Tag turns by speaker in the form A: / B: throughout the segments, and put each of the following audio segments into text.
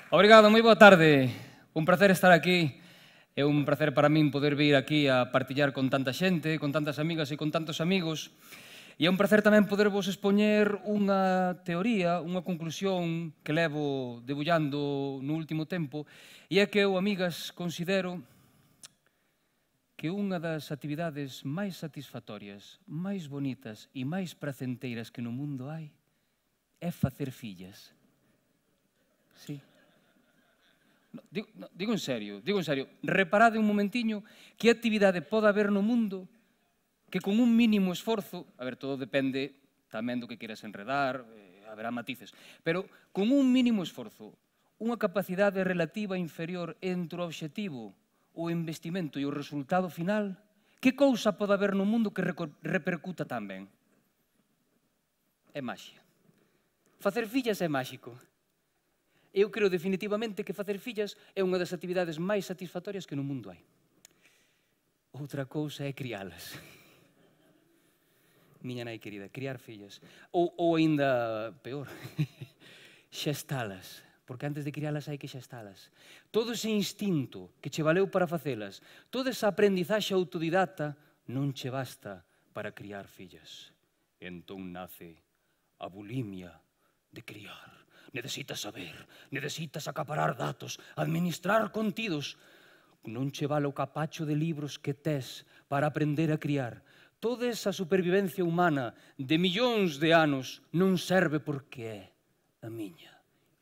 A: Obrigado, moi boa tarde. Un placer estar aquí. É un placer para min poder vir aquí a partillar con tanta xente, con tantas amigas e con tantos amigos. E é un placer tamén podervos expoñer unha teoría, unha conclusión que levo debullando no último tempo, e é que eu, amigas, considero que unha das actividades máis satisfactorias, máis bonitas e máis placenteiras que no mundo hai é facer fillas. Sí. Digo en serio. Reparade un momentiño que actividade pode haber no mundo que con un mínimo esforzo, a ver, todo depende tamén do que queras enredar, haberá matices, pero con un mínimo esforzo, unha capacidade relativa inferior entre o obxectivo, o investimento e o resultado final, que cousa pode haber no mundo que repercuta tan ben? É maxia. Facer fillas é máxico. Eu creo definitivamente que facer fillas é unha das actividades máis satisfactorias que no mundo hai. Outra cousa é crialas. Miña nai querida, criar fillas. Ou aínda peor, xestalas. Porque antes de crialas hai que xestalas. Todo ese instinto que che valeu para facelas, toda esa aprendizaxe autodidata non che basta para criar fillas. Entón nace a bulimia de criar. Necesitas saber, necesitas acaparar datos, administrar contidos. Non che vale o capacho de libros que tes para aprender a criar. Toda esa supervivencia humana de millóns de anos non serve porque é a miña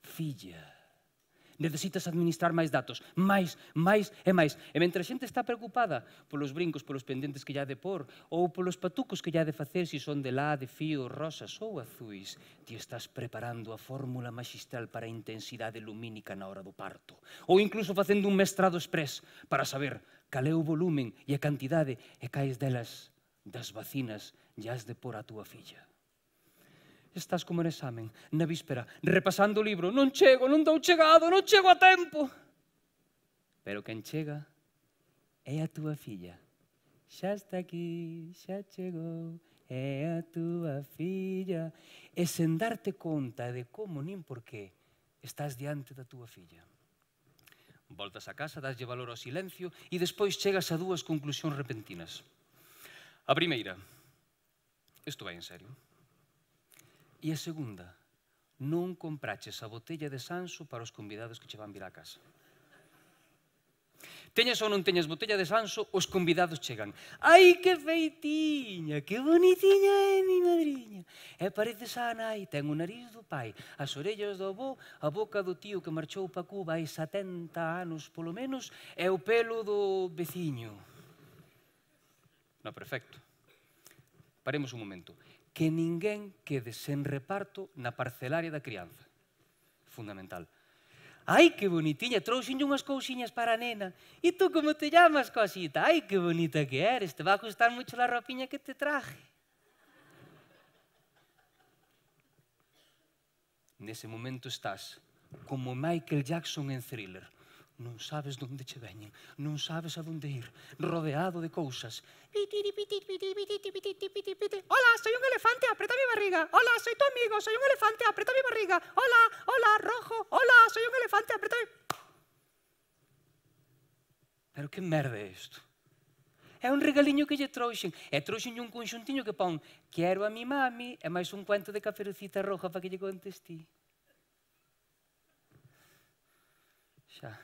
A: filla. Necesitas administrar máis datos, máis e máis. E mentre a xente está preocupada polos brincos, polos pendentes que lle ha de pôr, ou polos patucos que lle ha de facer, se son de lá, de fío, rosas ou azuis, ti estás preparando a fórmula maxistral para a intensidade lumínica na hora do parto. Ou incluso facendo un mestrado express para saber cal é o volumen e a cantidade e cais delas das vacinas lle has de pôr a túa filla. Estás como en examen, na víspera, repasando o libro. Non chego, non dou chegado, non chego a tempo. Pero quen chega é a túa filla. Xa está aquí, xa chegou, é a túa filla. E sen darte conta de como nin por qué estás diante da túa filla. Voltas a casa, daslle valor ao silencio e despois chegas a dúas conclusións repentinas. A primeira, isto vai en serio. E a segunda, non compraches a botella de Sanso para os convidados que che van vir á casa. Teñas ou non teñas botella de Sanso, os convidados chegan. Ai, que feitiña, que bonitiña é mi madriña. E pareces a nai, ten o nariz do pai, as orellas do avó, a boca do tío que marchou pa Cuba hai 70 anos polo menos, e o pelo do veciño. No, perfecto. Paremos un momento. Que ninguén quede sen reparto na parcelaria da crianza. Fundamental. Ai, que bonitiña, trouxenlle unhas cousiñas para a nena. E tú como te llamas, cosita? Ai, que bonita que eres, te va a gustar mucho la ropiña que te traje. Nese momento estás como Michael Jackson en Thriller. Non sabes onde che veñen, non sabes a onde ir, rodeado de cousas. Hola, soy un elefante, aprieta mi barriga. Hola, soy tu amigo, soy un elefante, aprieta mi barriga. Hola, hola, rojo. Hola, soy un elefante, aprieta mi... Pero que merda é isto? É un regaliño que lle trouxen. E trouxenlle un conxuntiño que pon quero a mi mami e máis un cuento de Caperucita Roja para que lle contes ti. Xa.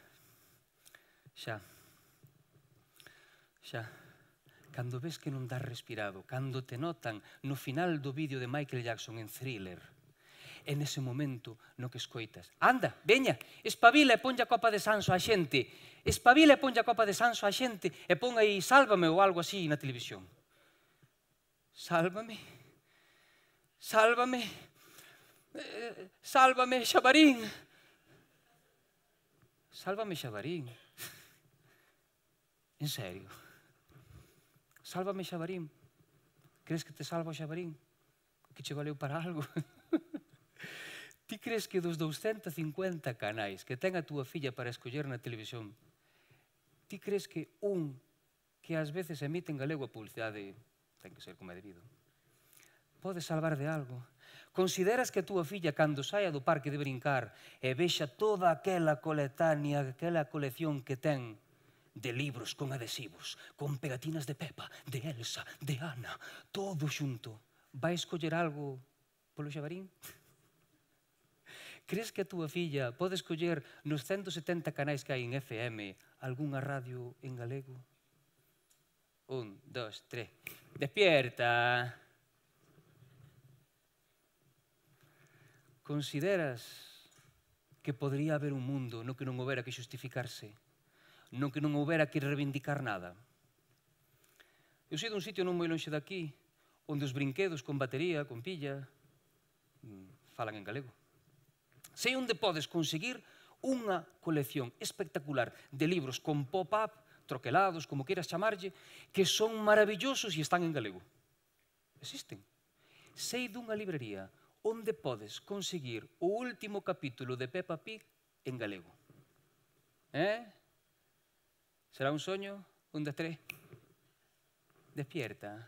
A: Cando ves que non das respirado, cando te notan no final do vídeo de Michael Jackson en Thriller, é nese momento no que escoitas. Anda, veña, espabila e ponlle a copa de Sanso á xente. Espabila e ponlle a copa de Sanso á xente e pon aí Sálvame ou algo así na televisión. Sálvame. Sálvame. Sálvame, Xabarín. Sálvame, Xabarín. En serio. Sálvame, Xabarín. Crees que te salva o Xabarín? Que che valeu para algo? Ti crees que dos 250 canais que ten a túa filla para escoller na televisión, ti crees que un que ás veces emite en galego a publicidade ten que ser como é debido? pode salvar de algo? Consideras que a túa filla, cando saia do parque de brincar e vexa toda aquela coletánea, aquela colección que ten de libros con adhesivos, con pegatinas de Pepa, de Elsa, de Ana, todo xunto, vai escoller algo polo xabarín? Crees que a túa filla pode escoller nos 170 canais que hai en FM algunha radio en galego? 1, 2, 3. Despierta. Consideras que podría haber un mundo no que non houbera que justificarse, no que non houbera que reivindicar nada? Eu sei dun sitio non moi lonxe daqui, onde os brinquedos con batería, con pilla, falan en galego. Sei onde podes conseguir unha colección espectacular de libros con pop-up, troquelados, como queiras chamarlle, que son maravillosos e están en galego. Existen. Sei dunha librería onde podes conseguir o último capítulo de Peppa Pig en galego. Será un soño? 1, 2, 3. Despierta.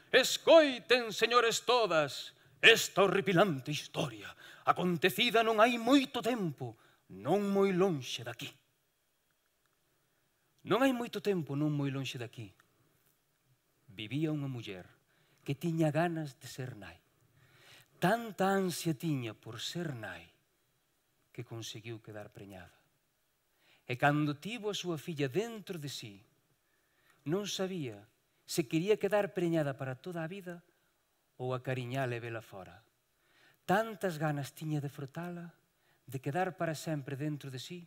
A: Escoiten, señores todas, esta horripilante historia, acontecida non hai moito tempo, non moi lonxe daqui. Non hai moito tempo, non moi lonxe daqui, vivía unha muller que tiña ganas de ser nai. Tanta ansia tiña por ser nai que conseguiu quedar preñada. E cando tivo a súa filla dentro de sí, non sabía se quería quedar preñada para toda a vida ou acariñala e vela fora. Tantas ganas tiña de frotala, de quedar para sempre dentro de sí,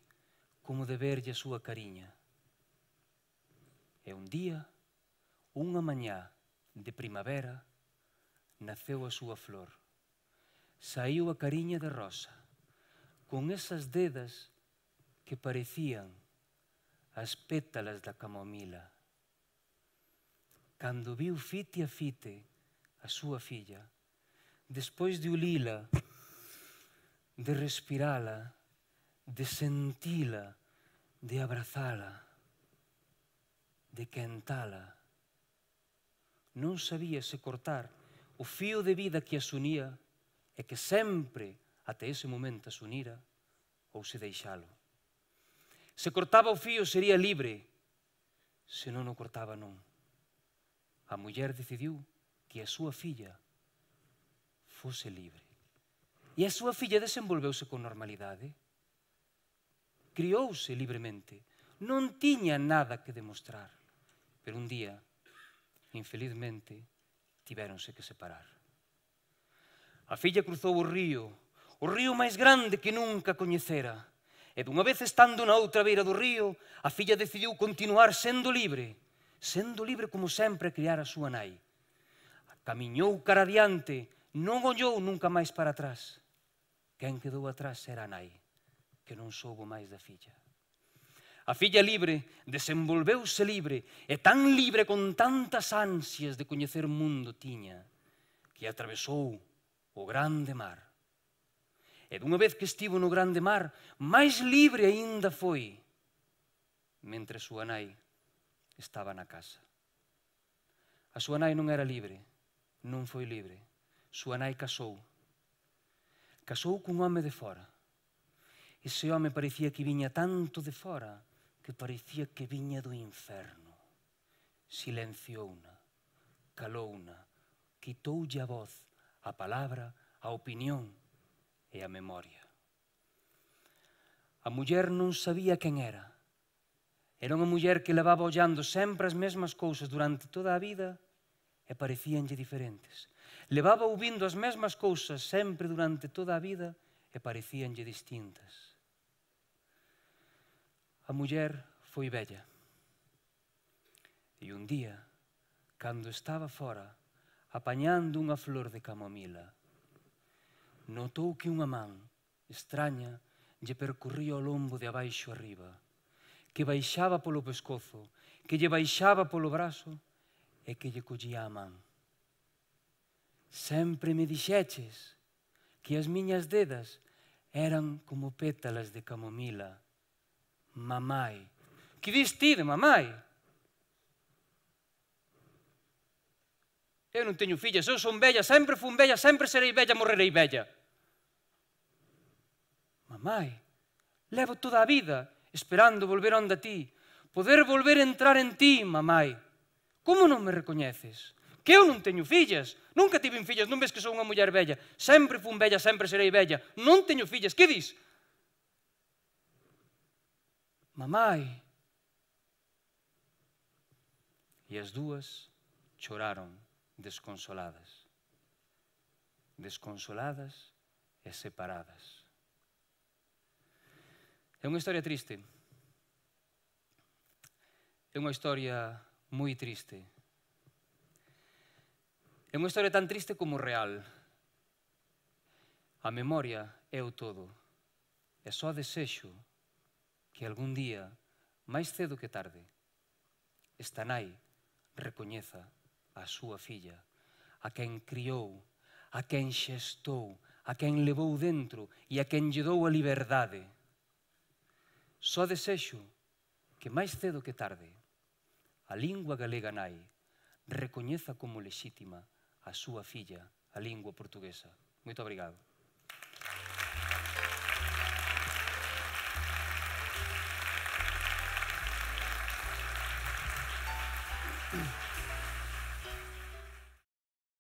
A: como de verlle a súa cariña. E un día, unha mañá de primavera, naceu a súa flor. Saíu a cariña de rosa, con esas dedas que parecían as pétalas da camomila. Cando viu fite a fite a súa filla, despois de ulila, de respirala, de sentila, de abrazala, de quentala, non sabía se cortar o fío de vida que as unía e que sempre, até ese momento, as unira, ou se deixalo. Se cortaba o fío sería libre, se non o cortaba non. A muller decidiu que a súa filla fose libre. E a súa filla desenvolveuse con normalidade. Criouse libremente. Non tiña nada que demostrar. Pero un día, infelizmente, tivéronse que separar. A filla cruzou o río máis grande que nunca coñecera. E dunha vez estando na outra beira do río, a filla decidiu continuar sendo libre como sempre criara a súa nai. Camiñou cara adiante, non ollou nunca máis para atrás. Quen quedou atrás era a nai, que non soubo máis da filla. A filla libre desenvolveuse libre, e tan libre con tantas ansias de coñecer mundo tiña, que atravesou o grande mar. E dunha vez que estivo no grande mar, máis libre aínda foi, mentre súa nai estaba na casa. A súa nai non era libre, non foi libre. Súa nai casou. Casou cun home de fora. Ese home parecía que viña tanto de fora que parecía que viña do inferno. Silenciouna, calouna, quitoulle a voz, a palabra, a opinión e a memoria. A muller non sabía quen era. Era unha muller que levaba ollando sempre as mesmas cousas durante toda a vida e parecíanlle diferentes. Levaba ouvindo as mesmas cousas sempre durante toda a vida e parecíanlle distintas. A muller foi vella. E un día, cando estaba fora, apañando unha flor de camomila, notou que unha man extraña lle percorría o lombo de abaixo arriba, que baixaba polo pescozo, que lle baixaba polo brazo e que lle collía a man. Sempre me dixeches que as miñas dedas eran como pétalas de camomila. Mamai. Que dis ti de mamai? Eu non teño fillas, eu son vella, sempre fun vella, sempre serei vella, morrerei vella. Mamai, levo toda a vida esperando volver onde a ti, poder volver a entrar en ti, mamai. Como non me recoñeces? Que eu non teño fillas, nunca tive fillas, non ves que sou unha muller vella, sempre fun vella, sempre serei vella, non teño fillas, que dis? Mamai. E as dúas choraron desconsoladas. Desconsoladas e separadas. É unha historia triste. É unha historia moi triste. É unha historia tan triste como real. A memoria é o todo. E só desexo que algún día, máis cedo que tarde, esta nai recoñeza a súa filla, a quen criou, a quen xestou, a quen levou dentro e a quen lle dou a liberdade. Só desexo que máis cedo que tarde a lingua galega nai recoñeza como lexítima a súa filla, a lingua portuguesa. Moito obrigado.